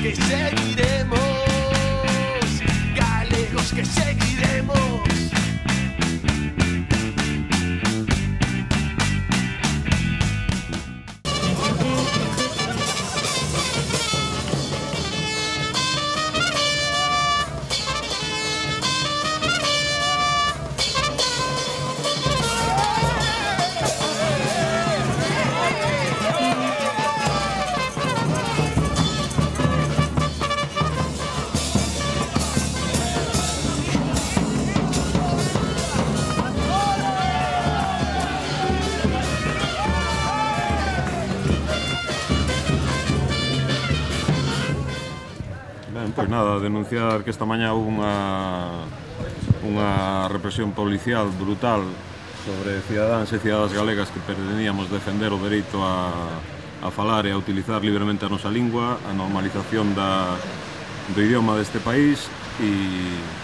que seguiremos, galegos que seguiremos. Pois nada, denunciar que esta mañá houve unha represión policial brutal sobre cidadáns e cidadas galegas que pretendíamos defender o dereito a falar e a utilizar libremente a nosa lingua, a normalización do idioma deste país e,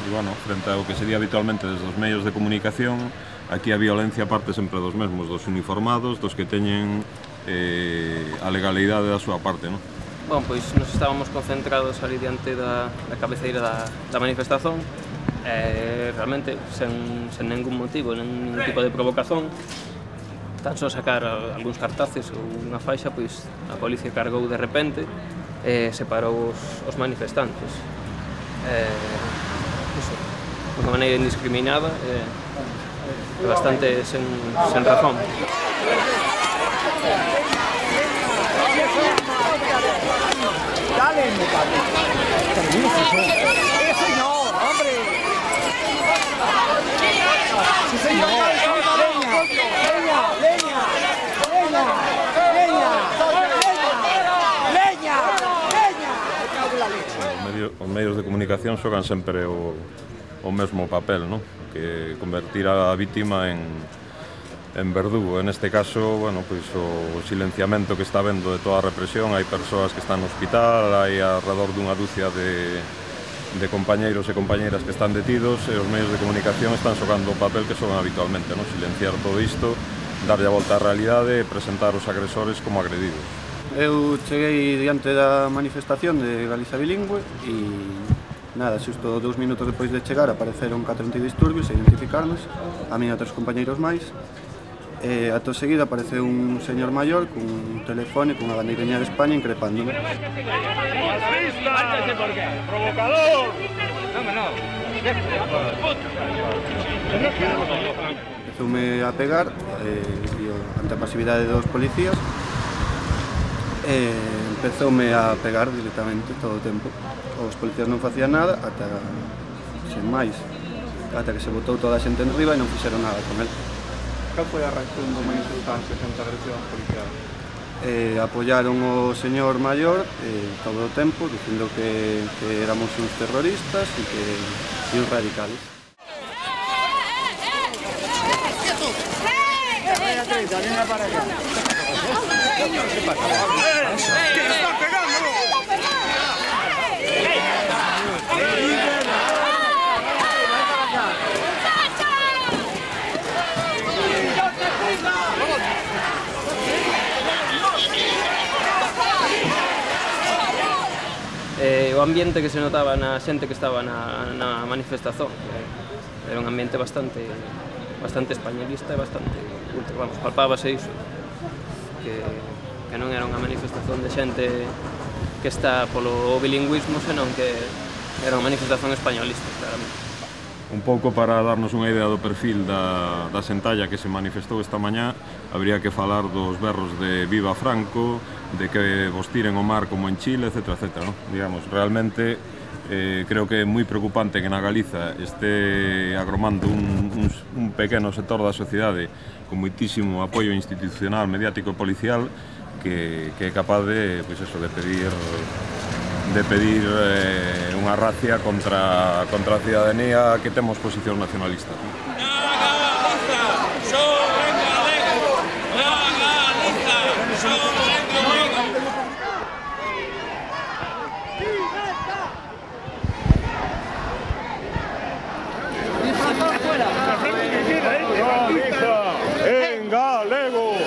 bueno, frente ao que sería habitualmente desde os medios de comunicación, aquí a violencia parte sempre dos mesmos, dos uniformados, dos que teñen a legalidade da súa parte, non? Bom, pois nos estábamos concentrados ali diante da cabeceira da manifestación, realmente sen ningún motivo, ningún tipo de provocación, tan só sacar algúns cartaces ou unha faixa, pois a policía cargou de repente e separou os manifestantes. Iso, de unha maneira indiscriminada e bastante sen razón. ¡Dale, muchacho! ¡Sí, señor! ¡Hombre! ¡Sí, señor! ¡Leña! ¡Leña! ¡Leña! ¡Leña! ¡Leña! ¡Leña! Os medios de comunicación xogan sempre o mesmo papel, non? Que convertir a vítima en verdugo. En este caso, bueno, pois o silenciamento que está vendo de toda a represión, hai persoas que están no hospital, hai alrededor dunha dúcia de compañeiros e compañeiras que están detidos e os medios de comunicación están xogando o papel que xogan habitualmente, non? Silenciar todo isto, darlle a volta á realidade e presentar os agresores como agredidos. Eu cheguei diante da manifestación de Galiza Bilingüe e nada, xusto 2 minutos depois de chegar apareceron 4 antidisturbios e identificarnos, a mí e a 3 compañeiros máis. Ato seguido apareceu un señor maior con un telefone con unha bandeirinha de España increpándome. ¡Provocador! Empezoume a pegar ante a pasividade dos policías empezoume a pegar directamente todo o tempo. Os policías non facían nada ata, sen máis, ata que se botou toda a xente enriba e non fixeron nada con el. Cal foi a reacción dos manifestantes ante a agresión policial? Apoyaron o señor maior todo o tempo, dicindo que éramos uns terroristas e uns radicales. O ambiente que se notaba na xente que estaba na manifestación era un ambiente bastante españolista e bastante ultra, vamos, palpábase iso que non era unha manifestación de xente que está polo bilingüismo, senón que era unha manifestación españolista, claramente. Un pouco para darnos unha idea do perfil da xentalla que se manifestou esta mañá, habría que falar dos berros de Viva Franco, de que vos tiren o mar como en Chile, etc. ¿no? Digamos, realmente creo que é moi preocupante que na Galiza este agromando un pequeno sector da sociedade con moitísimo apoio institucional, mediático e policial que é capaz de, pois eso, de pedir unha racia contra a cidadanía que temos posición nacionalista. ¡En galego!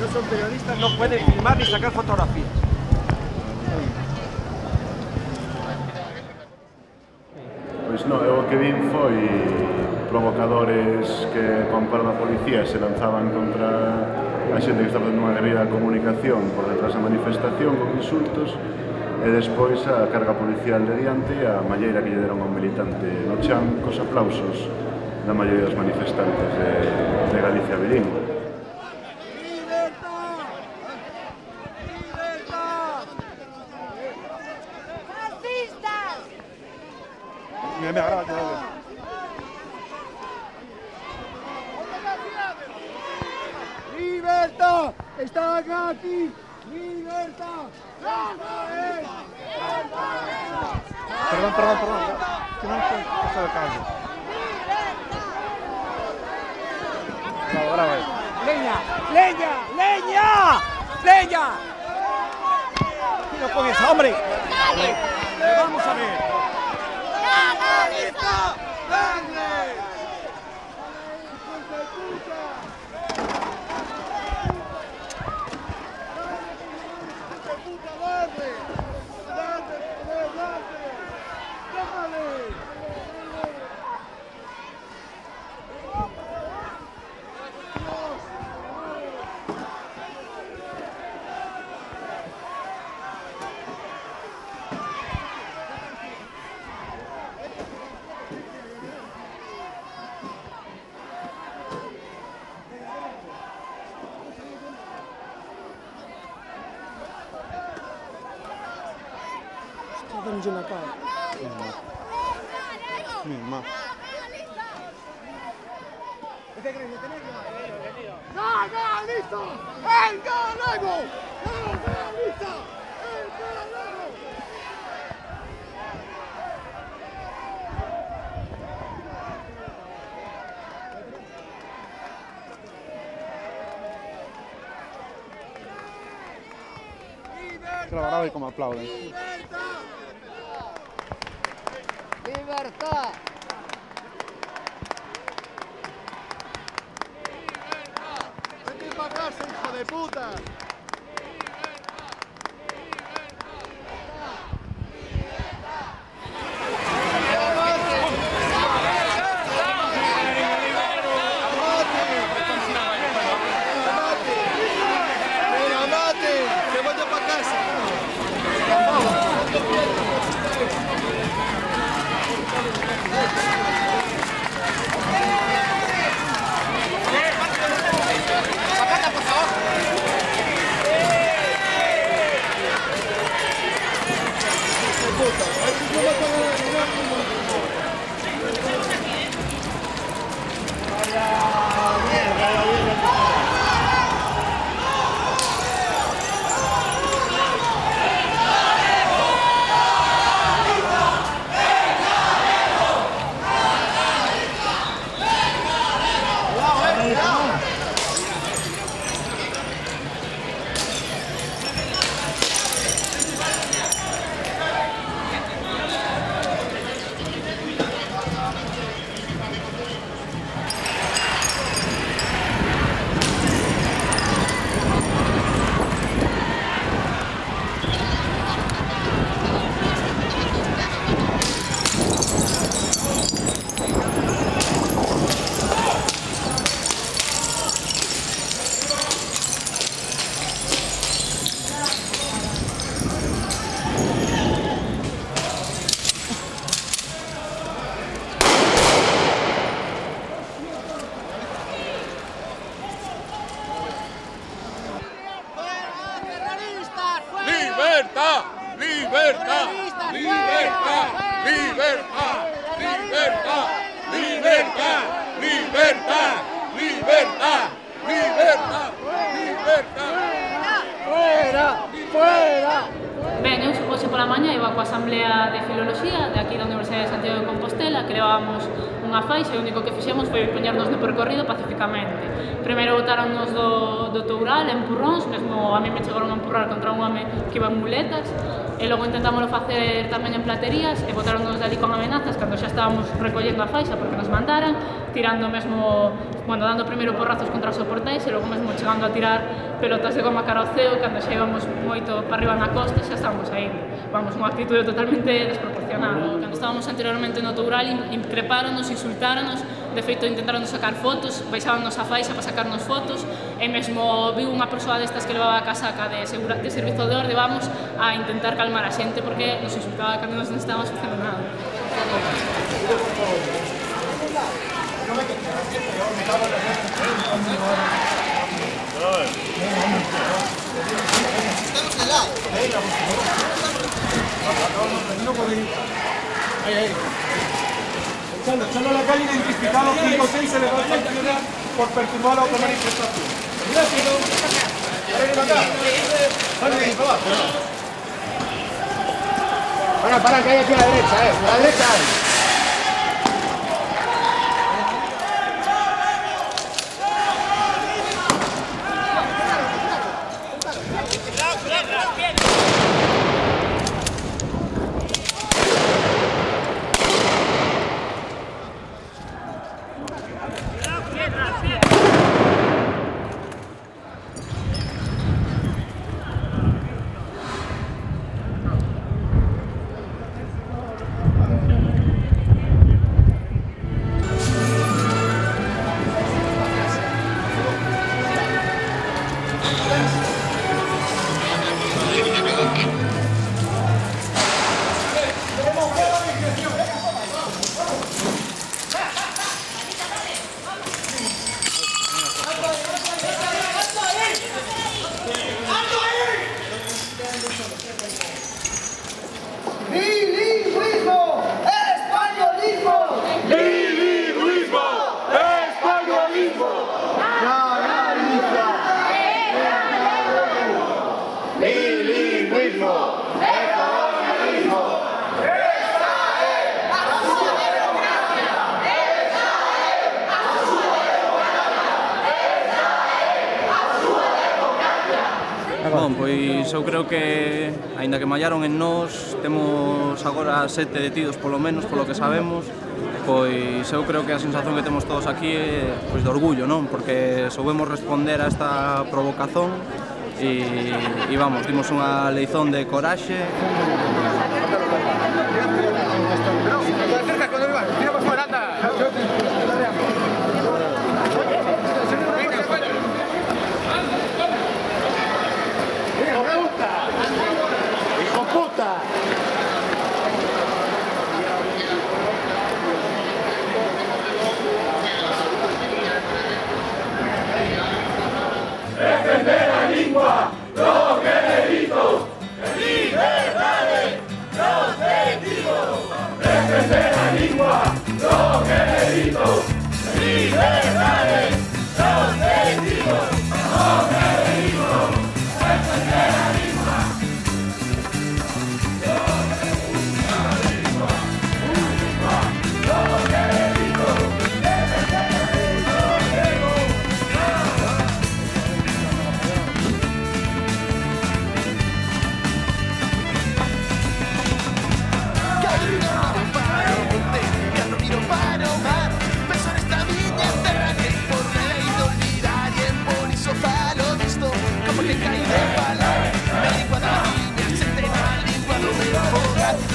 estos son periodistas, no pueden filmar ni sacar fotografías. Pois non, o que vin foi provocadores que con paro da policía se lanzaban contra a xente que estaba facendo unha guerrilla de comunicación por detrás da manifestación con insultos e despois a carga policial de diante e a malleira que lle deron a un militante no chan cos aplausos da maioría dos manifestantes de Galicia bilingüe. Me agrada que lo ¡Libertad! ¡Están aquí! ¡Libertad! Perdón. Que non foi cosa de caso. Bravo. ¡Leña! ¡Leña! ¡Leña! ¡Leña! ¡No con esa, hombre! ¡Vamos a ver! Dándonos en la cara. Misma. ¡Nacionalista! ¡El galego! ¡Nacionalista! ¡El galego! Que lo grabo y como aplauden. ¡Libertad! ¡Vete para casa, hijo de puta! ¡Libertad! ¡Libertad! ¡Libertad! ¡Libertad! ¡Libertad! ¡Libertad! ¡Libertad! ¡Libertad! ¡Libertad! ¡Libertad! ¡Fuera! ¡Fuera! Ben, eu hoxe pola mañá iba coa Asamblea de Filoloxía de aquí da Universidade de Santiago de Compostela, que levábamos unha faixa e o único que fixemos foi poñernos no percorrido pacificamente. Primeiro botáronnos do Toural, empurróns, mesmo a mí me chegaron a empurrar contra un home que iba en muletas, e logo intentámoslo facer tamén en platerías e botaronnos dali con amenazas cando xa estábamos recollendo a faixa porque nos mandaran, tirando mesmo, bueno, dando primeiro porrazos contra os soportais e logo mesmo chegando a tirar pelotas de goma cara ao ceo cando xa íbamos moito para arriba na costa xa estábamos aí, vamos, unha actitude totalmente desproporcionada. Cando estábamos anteriormente no Toural increpáronos, insultáronos, de feito intentaron sacar fotos, baixábanos a faixa para sacarnos fotos e mesmo viu unha persoa destas que levaba a casaca de servizo de orde, vamos, a intentar calmar a xente porque nos insultaba cando nos non estábamos facendo nada. Echando a la calle identificado 5 o 6 se le va a sancionar por perturbar la otra manifestación. Para, que hay aquí a la derecha, a la derecha hay. Bon, pois eu creo que, aínda que mallaron en nós, temos agora 7 detidos polo menos, polo que sabemos. Pois eu creo que a sensación que temos todos aquí é pois, de orgullo, non? Porque soubemos responder a esta provocazón e vamos, dimos unha leizón de coraxe. Defender la lengua, los delitos, libertades, los delitos. Defender la lengua, los delitos, libertades, los delitos, los delitos. Defender la lengua.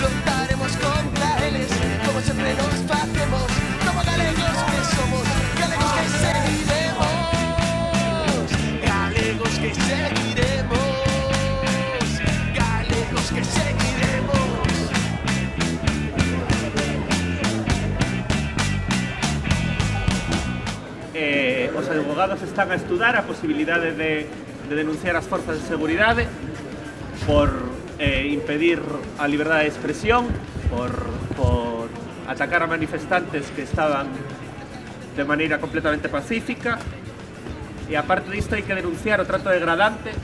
Luchtaremos contra eles, como sempre nos facemos, como galegos que somos, galegos que seguiremos, galegos que seguiremos, galegos que seguiremos. Os advogados están a estudar a posibilidade de denunciar as forzas de seguridade por impedir a liberdade de expresión, por atacar a manifestantes que estaban de maneira completamente pacífica, e aparte disto hai que denunciar o trato degradante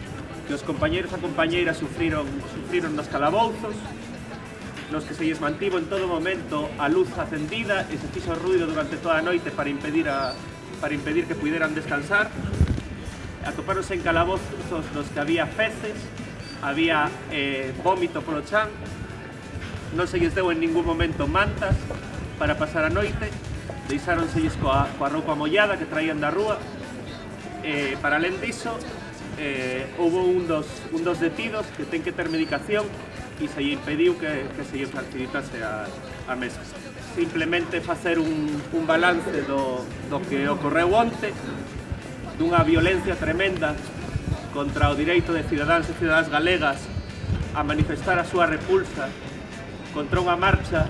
que os compañeiros e compañeiras sufriron nos calabouzos, nos que se lles mantivo en todo momento a luz acendida e se fixo ruido durante toda a noite para impedir que puderan descansar. Atopáronse en calabozos nos que había feces, había vómito polo chan, non se lles deu en ningún momento mantas para pasar a noite, deixáronselles coa roupa mollada que traían da rúa. Para alén diso, houve un dos detidos que ten que ter medicación e se lle impediu que se lle facilitase a mesa. Simplemente facer un balance do que ocorreu onte, dunha violencia tremenda contra o direito de cidadáns e cidadás galegas a manifestar a súa repulsa contra unha marcha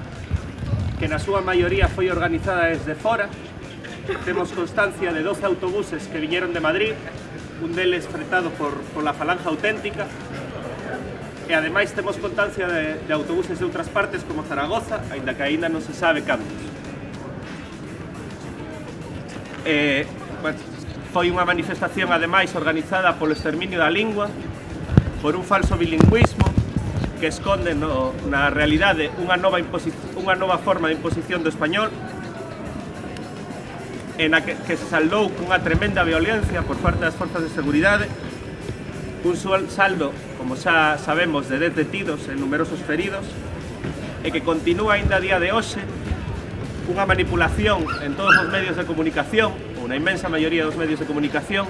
que na súa maioría foi organizada desde fora. Temos constancia de 12 autobuses que viñeron de Madrid, un deles fretado por la Falange Auténtica, e ademais temos constancia de autobuses de outras partes como Zaragoza, aínda que aínda non se sabe cantos. Foi unha manifestación ademais organizada polo exterminio da lingua, por un falso bilingüismo que esconde na realidade unha nova forma de imposición do español, en a que se saldou cunha tremenda violencia por parte das forzas de seguridade, un saldo, como xa sabemos, de 10 detidos e numerosos feridos, e que continúa aínda a día de hoxe unha manipulación en todos os medios de comunicación, ou na inmensa maioría dos medios de comunicación,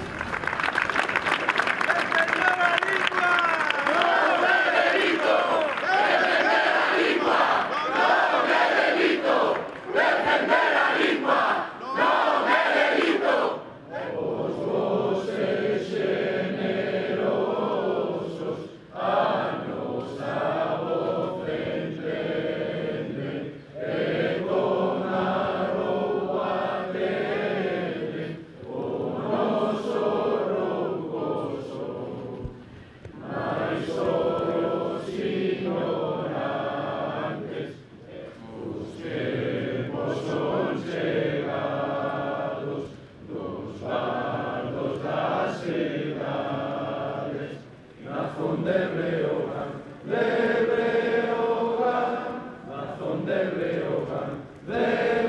de